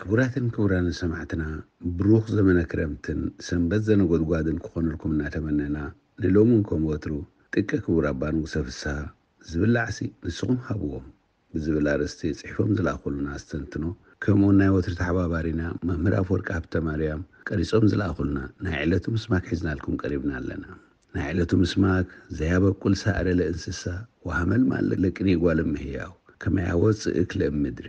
ክቡራትን ክቡራንን ሰማዕትና፣ ብሩኽ ዘመነ ክረምትን ሰንበት ዘነጎድጓድን ክኾነልኩም እናተመነና፣ ንሎምን ከም ወትሩ ጥቀ ክቡር ኣባ ንጉሰ ፍስሃ ዝብላዕሲ ንስኹም ሃብዎም ብዝብል ኣርእስቲ ጽሒፎም ዝለኣኹልና ኣስተንትኖ፣ ከምኡውን ናይ ወትሪ ተሓባባሪና መምህር ኣፈወርቂ ሃብተ ማርያም ቀሪጾም ዝለኣኹልና ናይ ዕለቱ ምስማክ ሒዝናልኩም ቀሪብና ኣለና። ናይ ዕለቱ ምስማክ፣ ዘያበቁል ሳዕረ ለእንስሳ ወሃመልማል ለቅኔ ጓል እመሕያው ከመ ያወፅእ እክለ እምድር።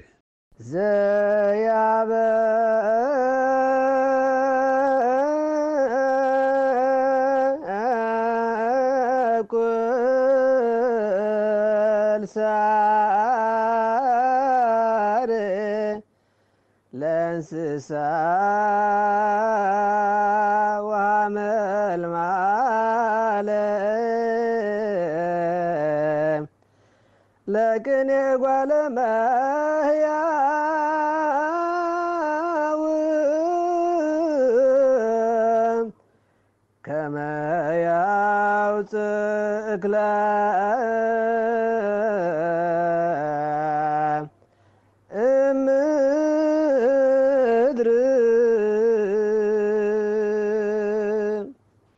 ዘያበኩል ሳዕር ለእንስሳ ወሃመልማለ ለቅኔ ጓለ እመሕያው ከመ ያውፅእ እክለ እምድር።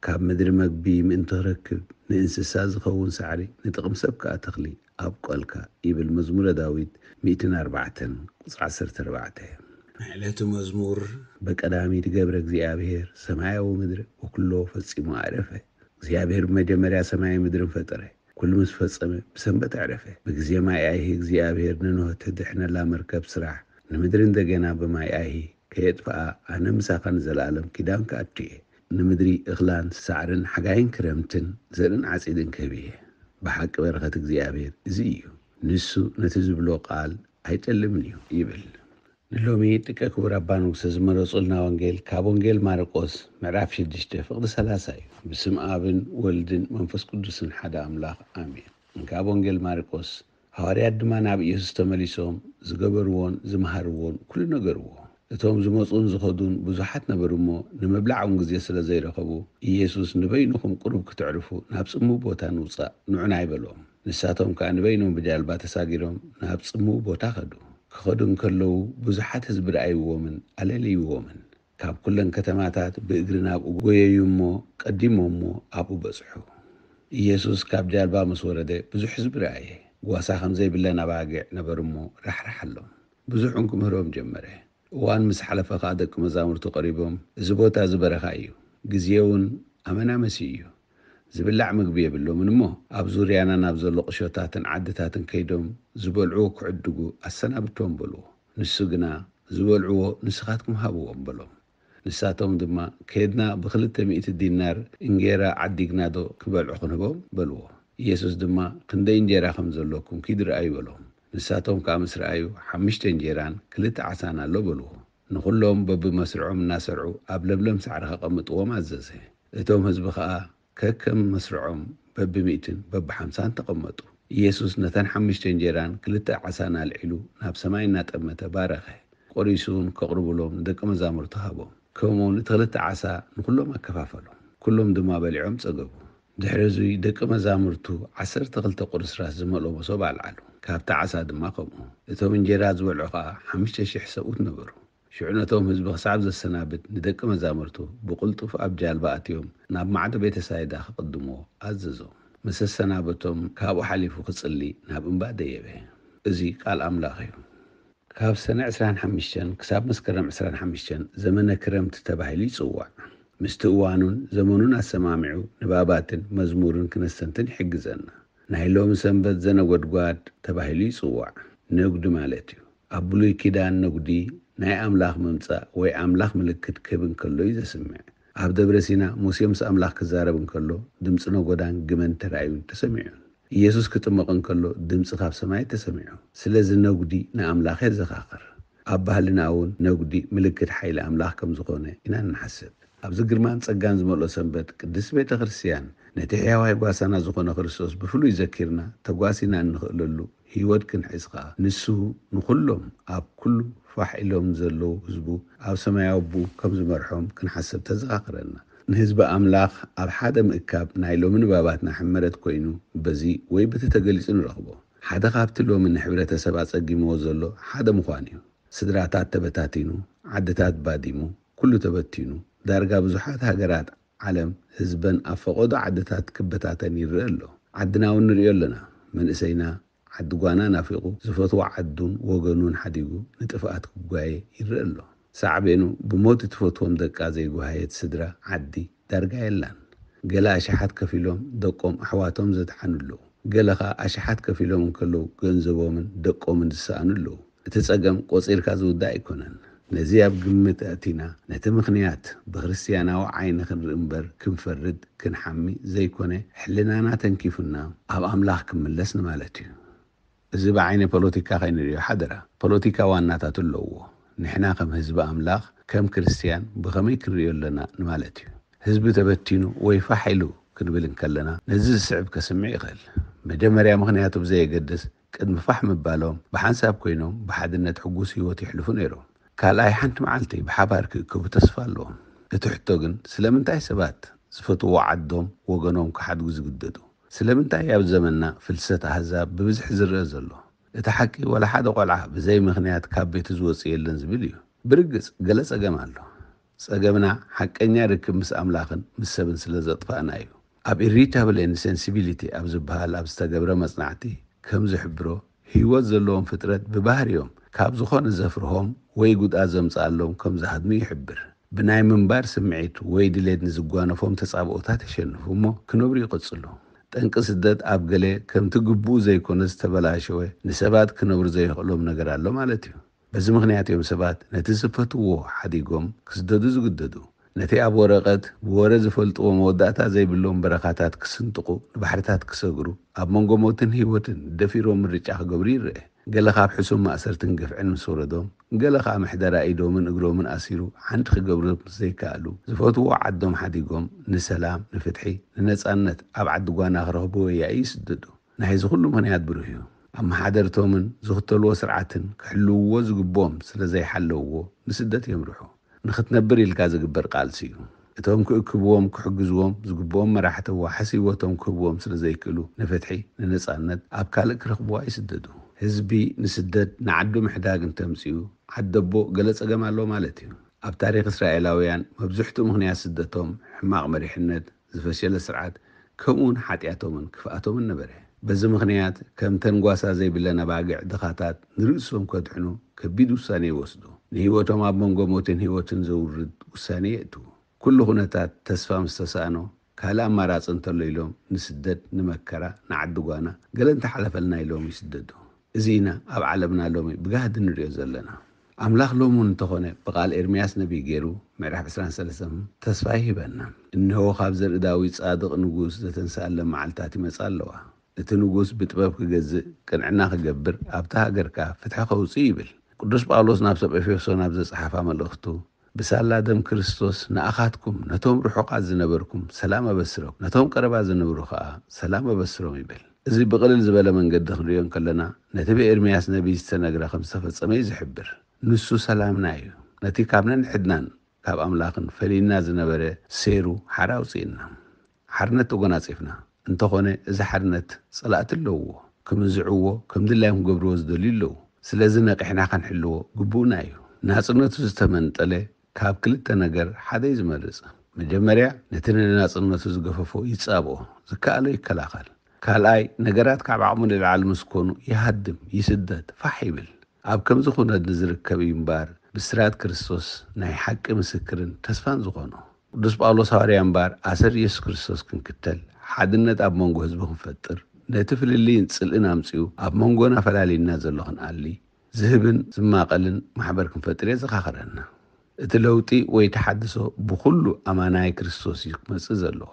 ካብ ምድሪ መግቢ ምእንቲ ክረክብ፣ ንእንስሳ ዝኸውን ሳዕሪ፣ ንጥቕሚ ሰብ ከኣ ተኽሊ ኣብቆልካ፣ ይብል መዝሙረ ዳዊት ሚእትን ኣርባዕተን ቁጽሪ ዓሰርተ ኣርባዕተ። ናይ ዕለቱ መዝሙር። በቀዳሚ ድገብረ እግዚኣብሔር ሰማያዊ ምድሪ ወኩሎ ፈጺሙ ኣዕረፈ። እግዚኣብሔር ብመጀመርያ ሰማይን ምድርን ፈጠረ። ኩሉ ምስ ፈጸመ ብሰንበት ኣዕረፈ። ብግዜ ማይ ኣይሂ እግዚኣብሔር ንኖህ ተድሕነላ መርከብ ስራሕ፣ ንምድሪ እንደገና ብማይ ኣይሂ ከየጥፍኣ ኣነ ምሳኻ ንዘለኣለም ኪዳን ክኣቱ እየ። ንምድሪ እኽላን ሳዕርን ሓጋይን ክረምትን ዘርእን ዓጺድን ክህብ እየ። ብሓቂ በረኸት እግዚኣብሔር እዚ እዩ። ንሱ ነቲ ዝብሎ ቃል ኣይጠልምን እዩ ይብል። ንሎሚ ጥቀ ክቡር ኣባ ንጉሰ ዝመረጹልና ወንጌል ካብ ወንጌል ማርቆስ ምዕራፍ ሽዱሽተ ፍቕዲ ሰላሳ እዩ። ብስም ኣብን ወልድን መንፈስ ቅዱስን ሓደ ኣምላኽ ኣሜን። ካብ ወንጌል ማርቆስ። ሃዋርያት ድማ ናብ ኢየሱስ ተመሊሶም ዝገበርዎን ዝመሃርዎን ኩሉ ነገርዎ። እቶም ዝመጹን ዝኸዱን ብዙሓት ነበሩ እሞ፣ ንምብላዕ እውን ግዜ ስለ ዘይረኸቡ፣ ኢየሱስ፣ "ንበይንኹም ቁሩብ ክትዕርፉ ናብ ጽምው ቦታ ንውጻእ፣ ንዑና" ኣይበሎም። ንሳቶም ከኣ ንበይኖም ብጃልባ ተሳጊሮም ናብ ጽምው ቦታ ኸዱ። ክኸዱ እንከለዉ ብዙሓት ህዝቢ ረኣይዎምን ኣለልይዎምን። ካብ ኩለን ከተማታት ብእግሪ ናብኡ ጎየዩ እሞ ቀዲሞሞ ኣብኡ በጽሑ። ኢየሱስ ካብ ጃልባ ምስ ወረደ ብዙሕ ህዝቢ ረኣየ። ጓሳ ከም ዘይብለን ኣባጊዕ ነበሩ እሞ ራሕራሓሎም። ብዙሕ እውን ክምህሮም ጀመረ። እዋን ምስ ሓለፈ ኸኣ ደቂ መዛሙርቱ ቀሪቦም፣ "እዚ ቦታ እዚ በረኻ እዩ፣ ግዜ እውን ኣመናመሲ እዩ። ዝብላዕ ምግቢ የብሎምን እሞ ኣብ ዙርያና ናብ ዘሎ ቁሾታትን ዓድታትን ከይዶም ዝበልዕዎ ክዕድጉ ኣሰናብቶም" በልዎ። ንሱ ግና፣ "ዝበልዕዎ ንስኻትኩም ሃብዎም" በሎም። ንሳቶም ድማ፣ "ከድና ብኽልተ ሚእቲ ዲናር እንጌራ ዓዲግናዶ ክበልዑ ክንህቦም?" በልዎ። ኢየሱስ ድማ፣ "ክንደይ እንጀራ ከም ዘሎኩም ኪዱ ርኣዩ" በሎም። ንሳቶም ከኣ ምስ ረኣዩ፣ "ሓሙሽተ እንጀራን ክልተ ዓሳን ኣሎ" በልዎ። ንኹሎም በብመስርዖም እናሰርዑ ኣብ ለምለም ሳዕሪ ከቐምጥዎም ኣዘዘ። እቶም ህዝቢ ኸኣ ከከም መስርዖም በብሚእትን በብሓምሳን ተቐመጡ። ኢየሱስ ነተን ሓሙሽተ እንጀራን ክልተ ዓሳን ኣልዒሉ ናብ ሰማይ እናጠመተ ባረኸ። ቆሪሱ እውን ከቕርብሎም ንደቂ መዛሙርቱ ሃቦም። ከምኡ እውን እቲ ክልተ ዓሳ ንኹሎም ኣከፋፈሎም። ኩሎም ድማ በሊዖም ጸገቡ። ድሕሪ እዙይ ደቂ መዛሙርቱ ዓሰርተ ክልተ ቁርስራስ ዝመልኦ መሶብ ኣልዓሉ። ካብቲ ዓሳ ድማ ከምኡ። እቶም እንጀራ ዝበልዑ ኸኣ ሓሙሽተ ሽሕ ሰብኡት ነበሩ። ሽዑ ነቶም ህዝቢ ክሳብ ዘሰናብት ንደቂ መዛሙርቱ ብቕልጡፍ ኣብ ጃልባ ኣትዮም ናብ ማዕዶ ቤተ ሳይዳ ክቕድምዎ ኣዘዞም። ምስ ኣሰናበቶም ካብኡ ሓሊፉ ክጽሊ ናብ እምባ ደየበ። እዚ ቃል ኣምላኽ እዩ። ካብ ሰነ ዕስራን ሓሙሽተን ክሳብ መስከረም ዕስራን ሓሙሽተን ዘመነ ክረምቲ ተባሂሉ ይጽዋዕ። ምስቲ እዋኑን ዘመኑን ኣሰማሚዑ ንባባትን መዝሙርን ክነስተንትን ይሕግዘና። ናይ ሎሚ ሰንበት ዘነጎድጓድ ተባሂሉ ይጽዋዕ። ነጉዲ ማለት እዩ። ኣብ ብሉይ ኪዳን ነጉዲ ናይ ኣምላኽ ምምጻእ ወይ ኣምላኽ ምልክት ክህብ እንከሎ እዩ ዘስምዕ። ኣብ ደብረ ሲና ሙሴ ምስ ኣምላኽ ክዛረብ እንከሎ ድምጺ ነጎዳን ግመን ተራእዩን ተሰሚዑን። ኢየሱስ ክጥመቕ እንከሎ ድምጺ ካብ ሰማይ ተሰሚዑ። ስለዚ ነጉዲ ንኣምላኽ የዘኻኽር። ኣብ ባህልና እውን ነጉዲ ምልክት ሓይሊ ኣምላኽ ከም ዝኾነ ኢና እንሓስብ። ኣብዚ ግርማን ጸጋን ዝመልኦ ሰንበት ቅድስት ቤተ ክርስቲያን ነቲ ሕያዋይ ጓሳና ዝኾነ ክርስቶስ ብፍሉይ ዘኪርና ተጓሲና እንኽእለሉ ህይወት ክንሕዝ ኸኣ፣ ንሱ ንኹሎም ኣብ ኩሉ ፋሕ ኢሎም ዘለዉ ህዝቡ ኣብ ሰማያዊ ኣቦኡ ከም ዝመርሖም ክንሓስብ ተዘኻኽረና። ንህዝቢ ኣምላኽ ኣብ ሓደ ምእካብ ናይ ሎሚ ንባባትና ሕመረት ኮይኑ በዚ ወይ በቲ ተገሊጹ ንረኽቦ። ሓደ ካብቲ ሎሚ ንሕብረተሰብ ኣጸጊምዎ ዘሎ ሓደ ምዃን እዩ። ስድራታት ተበታቲኑ፣ ዓድታት ባዲሙ፣ ኩሉ ተበቲኑ፣ ዳርጋ ብዙሓት ሃገራት ዓለም ህዝበን ኣብ ፈቐዶ ዓድታት ክበታተን ይረአ ኣሎ። ዓድና እውን ንሪኦ ኣለና። መንእሰይና ዓዲ ጓና ናፊቑ፣ ዝፈትዎ ዓዱን ወገኑን ሓዲጉ ንጥፍኣት ክጓየ ይረአ ኣሎ። ሳዕቤኑ ብሞት እትፈትዎም ደቃ ዘይጓሃየት ስድራ ዓዲ ዳርጋ የላን። ገለ ኣሽሓት ከፊሎም ደቆም ኣሕዋቶም ዘድሓኑ ኣለዉ። ገለ ኸኣ ኣሽሓት ከፊሎም እንከለዉ ገንዘቦምን ደቆምን ዝሰኣኑ ኣለዉ። እቲ ጸገም ቆጺርካ ዝውዳእ ኣይኮነን። ነዚ ኣብ ግምት ኣእቲና ነቲ ምኽንያት ብክርስትያናዊ ዓይኒ ክንርኢ እምበር ክንፈርድ ክንሓሚ ዘይኮነ፣ ሕልናና ተንኪፉና ኣብ ኣምላኽ ክምለስ ንማለት እዩ። እዚ ብዓይኒ ፖለቲካ ከይንርእዮ ሓደራ። ፖለቲካ ዋናታት ኣለዎ። ንሕና ከም ህዝቢ ኣምላኽ፣ ከም ክርስትያን ብኸመይ ክንርእዮ ኣለና ንማለት እዩ። ህዝቢ ተበቲኑ ወይ ፋሕ ኢሉ ክንብል እንከለና ነዚ ዝስዕብ ከስምዕ ይኽእል። መጀመርያ ምኽንያቱ ብዘየገድስ ቅድሚ ፋሕ ምባሎም ብሓንሳብ ኮይኖም ብሓድነት ሕጉስ ህይወት ይሕልፉ ነይሮም። ካልኣይ ሓንቲ መዓልቲ ብሓባር ክእከቡ ተስፋ ኣለዎም። እቲ ሕቶ ግን ስለምንታይ ሰባት ዝፈትዎ ዓዶም ወገኖም ክሓድጉ ዝግደዱ? ስለምንታይ ኣብ ዘመንና ፍልሰት ኣህዛብ ብብዝሒ ዝረአ ዘሎ? እቲ ሓቂ ዋላ ሓደ ቆልዓ ብዘይ ምኽንያት ካብ ቤቱ ዝወጽእ የለን ዝብል እዩ። ብርግጽ ገለ ጸገም ኣሎ። ጸገምና ሓቀኛ ርክብ ምስ ኣምላኽን ምስ ሰብን ስለ ዘጥፋእና እዩ። ኣብ Irritable Insensibility ኣብ ዝበሃል ኣብ ዝተገብረ መጽናዕቲ ከም ዝሕብሮ ህይወት ዘለዎም ፍጥረት ብባህሪኦም ካብ ዝኾነ ዘፍርሆም ወይ ጉድኣት ዘምጽኣሎም ከም ዝሃድሙ ይሕብር። ብናይ ምንባር ስምዒት ወይ ድሌት ንዝጓነፎም ተጻብኦታት የሸንፉ እሞ ክነብሩ ይቕጽሉ። ጠንቂ ስደት ኣብ ገለ ከምቲ ግቡኡ ዘይኮነ ዝተበላሸወ ንሰባት ክነብሩ ዘየኽእሎም ነገር ኣሎ ማለት እዩ። በዚ ምኽንያት እዮም ሰባት ነቲ ዝፈትዎ ሓዲጎም ክስደዱ ዝግደዱ። ነቲ ኣብ ወረቐት ብወረ ዝፈልጥዎ መወዳእታ ዘይብሎም በረኻታት ክስንጥቑ፣ ንባሕርታት ክሰግሩ፣ ኣብ መንጎ ሞትን ህይወትን ደፊሮም ምርጫ ክገብሩ ይረአ። ገለ ካብ ሕሱም ማእሰርትን ግፍዕን ምስ ወረዶም፣ ገለ ከኣ ምሕደራ ኢዶምን እግሮምን ኣሲሩ ሓንቲ ክገብሩ ምስ ዘይከኣሉ፣ ዝፈትዎ ዓዶም ሓዲጎም ንሰላም፣ ንፍትሒ፣ ንነጻነት ኣብ ዓዲ ጓና ክረኽብዎ ያኢ ይስደዱ። ናይዚ ኩሉ ምኽንያት ብሩህ እዩ። ኣመሓደርቶምን ዝኽተልዎ ስርዓትን ክሕልውዎ ዝግብኦም ስለ ዘይሓለውዎ ንስደት የምርሑ። ንኽትነብር ኢልካ ዝግበር ቃልሲ እዩ። እቶም ክእክብዎም፣ ክሕግዝዎም ዝግብኦም መራሕቲ ዋሕስ ህይወቶም ክህብዎም ስለ ዘይክእሉ፣ ንፍትሒ፣ ንነጻነት ኣብ ካልእ ክረኽብዋ ይስደዱ። ህዝቢ ንስደት ንዓዱ ምሕዳግ እንተምጽኡ፣ ዓደቦ ገለ ጸገም ኣሎ ማለት እዩ። ኣብ ታሪኽ እስራኤላውያን መብዝሕትኡ ምኽንያት ስደቶም ሕማቕ መሪሕነት፣ ዝፈሸለ ስርዓት፣ ከምኡውን ሓጢኣቶምን ክፍኣቶምን ነበረ። በዚ ምኽንያት ከምተን ጓሳ ዘይብለን ኣባግዕ ድኻታት ንርእሶም ከድሕኑ ከቢድ ውሳኔ ይወስዱ። ንህይወቶም ኣብ መንጎ ሞትን ህይወትን ዘውርድ ውሳኔ የእትዉ። ኩሉ ኩነታት ተስፋ ምስ ተሳእኖ፣ ካልእ ኣማራጺ እንተሎ ኢሎም ንስደት፣ ንመከራ፣ ንዓዲ ጓና፣ ገለ እንተሓለፈልና ኢሎም ይስደዱ። እዚ ኢና ኣብ ዓለምና ሎሚ ብጋህዲ ንሪኦ ዘለና። ኣምላኽ ሎሚ እውን እንተኾነ ብቓል ኤርምያስ ነቢይ ገይሩ ምዕራፍ ዕስራን ሰለስተን ተስፋ ይህበና። እንሆ ካብ ዘርኢ ዳዊት ጻድቕ ንጉስ ዘተንስኣለን መዓልታት ይመጻ ኣለዋ። እቲ ንጉስ ብጥበብ ክገዝእ፣ ቅንዕና ክገብር፣ ኣብታ ሃገር ከኣ ፍትሒ ከውጽእ ይብል። ቅዱስ ጳውሎስ ናብ ሰብ ኤፌሶን ኣብ ዘጸሓፋ መልእኽቱ ብሳላ ደም ክርስቶስ ንኣኻትኩም ነቶም ርሑቓት ዝነበርኩም ሰላም ኣበስረኩም፣ ነቶም ቀረባ ዝነብሩ ኸኣ ሰላም ኣበስሮም ይብል። እዚ ብቕልል ዝበለ መንገዲ ክንሪኦ እንከለና ነቲ ብኤርምያስ ነቢይ ዝተነግረ ከም ዝተፈጸመ እዩ ዝሕብር። ንሱ ሰላምና እዩ። ነቲ ካብ ነንሕድናን ካብ ኣምላኽን ፈሊና ዝነበረ ሴሩ ሓራ ኣውጺእና። ሓርነት ተጎናጺፍና። እንተኾነ እዚ ሓርነት ጸላእቲ ኣለውዎ። ክምንዝዕዎ፣ ከም ድላዮም ክገብርዎ ዝደልዩ ኣለዉ። ስለዚ ነቒሕና ከንሕልዎ ግቡእና እዩ። ናጽነቱ ዝተመንጠለ ካብ ክልተ ነገር ሓደ እዩ ዝመርጽ። መጀመርያ ነቲ ንናጽነቱ ዝገፈፎ ይጻብኦ፣ ዝከኣሎ ይከላኸል። ካልኣይ ነገራት ካብ ዓቕሙ ንላዕሊ ምስ ኮኑ ይሃድም፣ ይስደድ፣ ፋሕ ይብል። ኣብ ከምዚ ኩነት ንዝርከብ እዩ እምበኣር ብስራት ክርስቶስ ናይ ሓቂ ምስክርን ተስፋን ዝኾኖ። ቅዱስ ጳውሎስ ሃዋርያ እምበኣር ኣሰር ኢየሱስ ክርስቶስ ክንክተል፣ ሓድነት ኣብ መንጎ ህዝቢ ክንፈጥር፣ ነቲ ፍልልይን ጽልእን ኣምጺኡ ኣብ መንጎና ፈላልዩና ዘሎ ክንኣሊ፣ ዝህብን ዝማቐልን ማሕበር ክንፈጥር የዘኻኽረና። እቲ ለውጢ ወይ ተሓድሶ ብኹሉ ኣማናይ ክርስቶስ እዩ ክመጽእ ዘለዎ።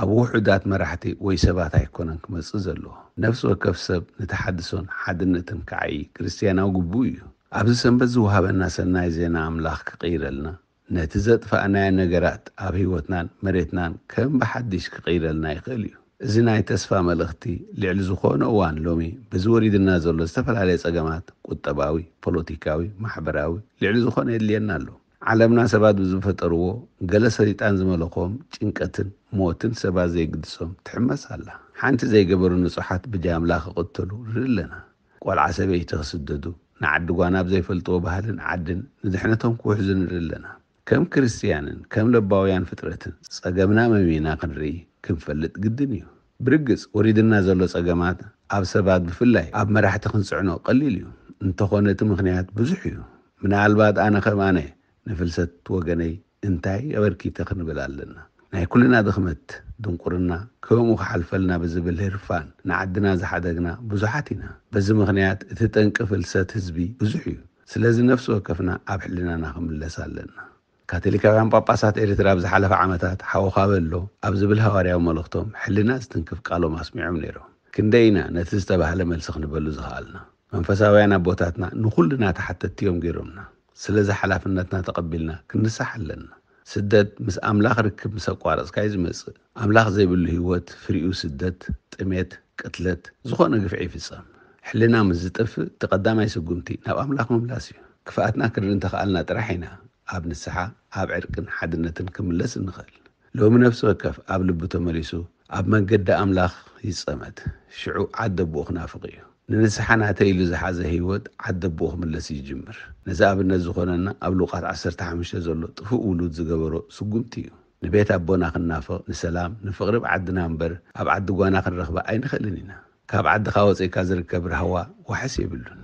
ኣብ ውሑዳት መራሕቲ ወይ ሰባት ኣይኮነን ክመጽእ ዘለዎ። ነፍሲ ወከፍ ሰብ ንተሓድሶን ሓድነትን ክዓዪ ክርስትያናዊ ግቡእ እዩ። ኣብዚ ሰንበት ዝወሃበና ሰናይ ዜና ኣምላኽ ክቕይረልና፣ ነቲ ዘጥፋእናዮ ነገራት ኣብ ህይወትናን መሬትናን ከም ብሓድሽ ክቕይረልና ይኽእል እዩ። እዚ ናይ ተስፋ መልእኽቲ ልዕሊ ዝኾነ እዋን ሎሚ በዚ ወሪድና ዘሎ ዝተፈላለየ ጸገማት ቁጠባዊ፣ ፖለቲካዊ፣ ማሕበራዊ ልዕሊ ዝኾነ የድልየና ኣሎ። ዓለምና ሰባት ብዝፈጠርዎ ገለ ሰይጣን ዝመለኾም ጭንቀትን ሞትን ሰባት ዘይግድሶም ትሕመስ ኣላ። ሓንቲ ዘይገበሩ ንጹሓት ብጃምላ ክቕተሉ ንርኢ ኣለና። ቆልዓ ሰበይቲ ክስደዱ፣ ንዓዲ ጓና ኣብ ዘይፈልጥዎ ባህልን ዓድን ንድሕነቶም ክውሕዙ ንርኢ ኣለና። ከም ክርስትያንን ከም ለባውያን ፍጥረትን ጸገምና መሚና ክንርኢ ክንፈልጥ ግድን እዩ። ብርግጽ ወሪድና ዘሎ ጸገማት ኣብ ሰባት ብፍላይ ኣብ መራሕቲ ክንጽዕኖ ቀሊል እዩ። እንተኾነ እቲ ምኽንያት ብዙሕ እዩ። ምናልባት ኣነ ከም ኣነ ንፍልሰት ወገነይ እንታይ ኣበርኪተ ክንብል ኣለና። ናይ ኩልና ድኽመት ድንቁርና ከምኡ ክሓልፈልና ብዝብል ህርፋን ንዓድና ዝሓደግና ብዙሓት ኢና። በዚ ምኽንያት እቲ ጠንቂ ፍልሰት ህዝቢ ብዙሕ እዩ። ስለዚ ነፍሲ ወከፍና ኣብ ሕልናና ክምለስ ኣለና። ካቶሊካውያን ጳጳሳት ኤርትራ ኣብ ዝሓለፈ ዓመታት ሓውኻ በሎ ኣብ ዝብል ሃዋርያዊ መልእኽቶም ሕልና ዝትንክፍ ቃሎም ኣስሚዖም ነይሮም። ክንደይ ኢና ነቲ ዝተባህለ መልሲ ክንበሉ ዝኸኣልና? መንፈሳውያን ኣቦታትና ንኹልና ተሓተትቲ እዮም ገይሮምና። ስለዚ ሓላፍነትና ተቐቢልና ክንንሳሕ ኣለና። ስደት ምስ ኣምላኽ ርክብ ምስ ኣቋረጽካ እዩ ዝመጽእ። ኣምላኽ ዘይብሉ ህይወት ፍሪኡ ስደት፣ ጥሜት፣ ቅትለት፣ ዝኾነ ግፍዒ ይፍጸም። ሕልና ምስ ዝጠፍእ እቲ ቀዳማይ ስጉምቲ ናብ ኣምላኽ ምምላስ እዩ። ክፍኣትና ክንርኢ እንተኸኣልና ጥራሕ ኢና ኣብ ንስሓ፣ ኣብ ዕርቅን ሓድነትን ክምለስ እንኽእል። ሎሚ ነፍሲ ወከፍ ኣብ ልቡ ተመሊሱ ኣብ መንገዲ ኣምላኽ ይጸመድ። ሽዑ ዓዲ ኣቦኡ ክናፍቕ እዩ። ንንስሓ ናተይ ኢሉ ዝሓዘ ህይወት ዓዲ ኣቦኡ ክምለስ ይጅምር። ነዚ ኣብነት ዝኾነና ኣብ ሉቃስ ዓሰርተ ሓሙሽተ ዘሎ ጥፉእ ውሉድ ዝገበሮ ስጉምቲ እዩ። ንቤት ኣቦና ክንናፍቕ፣ ንሰላም፣ ንፍቕሪ ኣብ ዓድና እምበር ኣብ ዓዲ ጓና ክንረኽባ ኣይንኽእልን ኢና። ካብ ዓድኻ ወጺእካ ዝርከብ ራህዋ ዋሕስ የብሉን።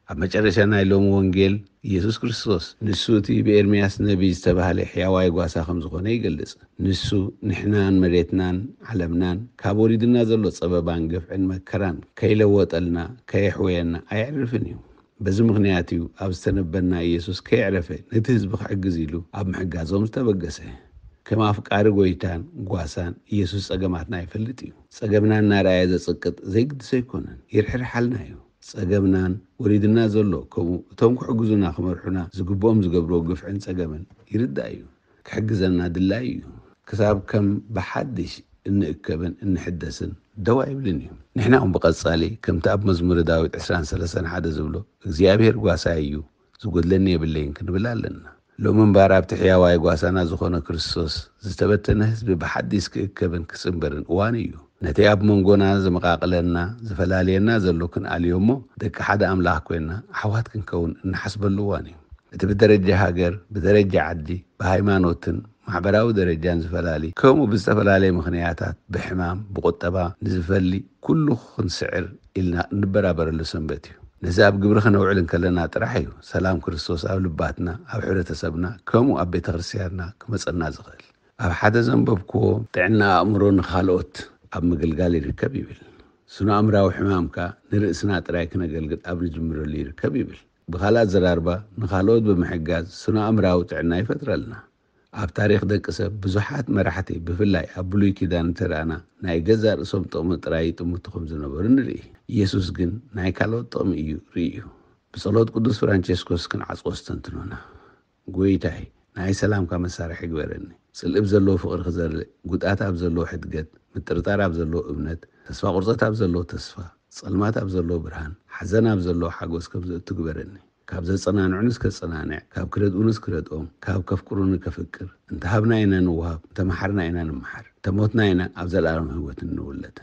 ኣብ መጨረሻ ናይ ሎሚ ወንጌል፣ ኢየሱስ ክርስቶስ ንሱ እቲ ብኤርምያስ ነቢይ ዝተባህለ ሕያዋይ ጓሳ ከም ዝኾነ ይገልጽ። ንሱ ንሕናን መሬትናን ዓለምናን ካብ ወሪድና ዘሎ ጸበባን ግፍዕን መከራን ከይለወጠልና፣ ከየሕወየና ኣየዕርፍን እዩ። በዚ ምኽንያት እዩ ኣብ ዝተነበና ኢየሱስ ከየዕረፈ ነቲ ህዝቢ ክሕግዝ ኢሉ ኣብ ምሕጋዞም ዝተበገሰ። ከም ኣፍቃሪ ጎይታን ጓሳን ኢየሱስ ጸገማትና ይፈልጥ እዩ። ጸገምና እናረኣየ ዘጽቅጥ ዘይግድስ ኣይኮነን፣ ይርሕርሓልና እዩ። ጸገምናን ወሪድና ዘሎ ከምኡ እቶም ክሕግዙና ክመርሑና ዝግብኦም ዝገብርዎ ግፍዕን ጸገምን ይርዳእ እዩ። ክሕግዘና ድላይ እዩ። ክሳብ ከም ብሓድሽ እንእከብን እንሕደስን ደው ኣይብልን እዩ። ንሕና እውን ብቐጻሊ ከምቲ ኣብ መዝሙረ ዳዊት ዕስራን ሰለስተን ሓደ ዝብሎ እግዚኣብሔር ጓሳይ እዩ፣ ዝጎድለኒ የብለይን ክንብል ኣለና። ሎሚ እምበኣር ኣብቲ ሕያዋይ ጓሳና ዝኾነ ክርስቶስ ዝተበተነ ህዝቢ ብሓዲስ ክእከብን ክጽንበርን እዋኑ እዩ። ነቲ ኣብ መንጎና ዝመቓቕለና ዝፈላልየና ዘሎ ክንኣልዮ እሞ ደቂ ሓደ ኣምላኽ ኮይንና ኣሕዋት ክንከውን እንሓስበሉ እዋን እዩ። እቲ ብደረጃ ሃገር፣ ብደረጃ ዓዲ፣ ብሃይማኖትን ማሕበራዊ ደረጃን ዝፈላሊ ከምኡ ብዝተፈላለየ ምኽንያታት ብሕማም፣ ብቁጠባ ንዝፈሊ ኩሉ ክንስዕር ኢልና እንበራበረሉ ሰንበት እዩ። ነዚ ኣብ ግብሪ ከነውዕል እንከለና ጥራሕ እዩ ሰላም ክርስቶስ ኣብ ልባትና፣ ኣብ ሕብረተሰብና፣ ከምኡ ኣብ ቤተ ክርስቲያንና ክመጸና ዝኽእል። ኣብ ሓደ ዘንበብክዎ ጥዕና ኣእምሮ ንኻልኦት ኣብ ምግልጋል ይርከብ ይብል። ስነ ኣእምራዊ ሕማም ከኣ ንርእስና ጥራይ ክነገልግል ኣብ ንጅምረሉ ይርከብ ይብል። ብኻልእ ኣዘራርባ ንኻልኦት ብምሕጋዝ ስነ ኣእምራዊ ጥዕና ይፈጥረልና። ኣብ ታሪኽ ደቂ ሰብ ብዙሓት መራሕቲ ብፍላይ ኣብ ብሉይ ኪዳን እንተረኣና ናይ ገዛእ ርእሶም ጥቕሚ ጥራይ ይጥምቱ ከም ዝነበሩ ንርኢ። ኢየሱስ ግን ናይ ካልኦት ጥቕሚ እዩ ርእዩ። ብጸሎት ቅዱስ ፍራንቸስኮስ ክንዓጽዎ ስተንትኖና። ጎይታይ ናይ ሰላምካ መሳርሒ ግበረኒ። ጽልኢ ኣብ ዘለዎ ፍቕሪ ክዘርእ፣ ጉድኣት ኣብ ዘለዎ ሕድገት፣ ምጥርጣር ኣብ ዘለዎ እምነት፣ ተስፋ ቁርጸት ኣብ ዘለዎ ተስፋ፣ ጸልማት ኣብ ዘለዎ ብርሃን፣ ሓዘን ኣብ ዘለዎ ሓጎስ ከም ዘእቱ ግበረኒ። ካብ ዘጸናንዑንስ ከጸናንዕ፣ ካብ ክረድኡንስ ክረድኦም፣ ካብ ከፍቅሩኒ ከፍቅር። እንተ ሃብና ኢና ንወሃብ፣ እንተ መሓርና ኢና ንምሓር፣ እንተ ሞትና ኢና ኣብ ዘለኣለም ህይወት እንውለድ።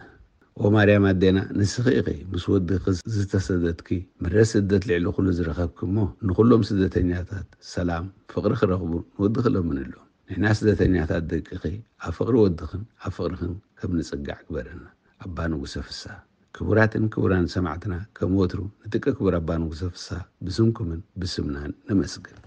ኦ ማርያም ኣዴና፣ ንስኺ ኢኺ ምስ ወድኺ ዝተሰደድኪ፣ ምሕረት ስደት ልዕሊ ኩሉ ዝረኸብኪ እሞ፣ ንኹሎም ስደተኛታት ሰላም፣ ፍቕሪ ክረኽቡ ንወድኺ ለምንሎም። ንሕና ስደተኛታት ደቅኺ ኣብ ፍቕሪ ወድኽን ኣብ ፍቕርኽን ከም ንጽጋዕ ግበረና። ኣባ ንጉሰ ፍስሃ። ክቡራትን ክቡራን ሰማዕትና፣ ከም ወትሩ ንደቂ ክቡር ኣባ ንጉሰ ፍስሃ ብስምኩምን ብስምናን ነመስግን።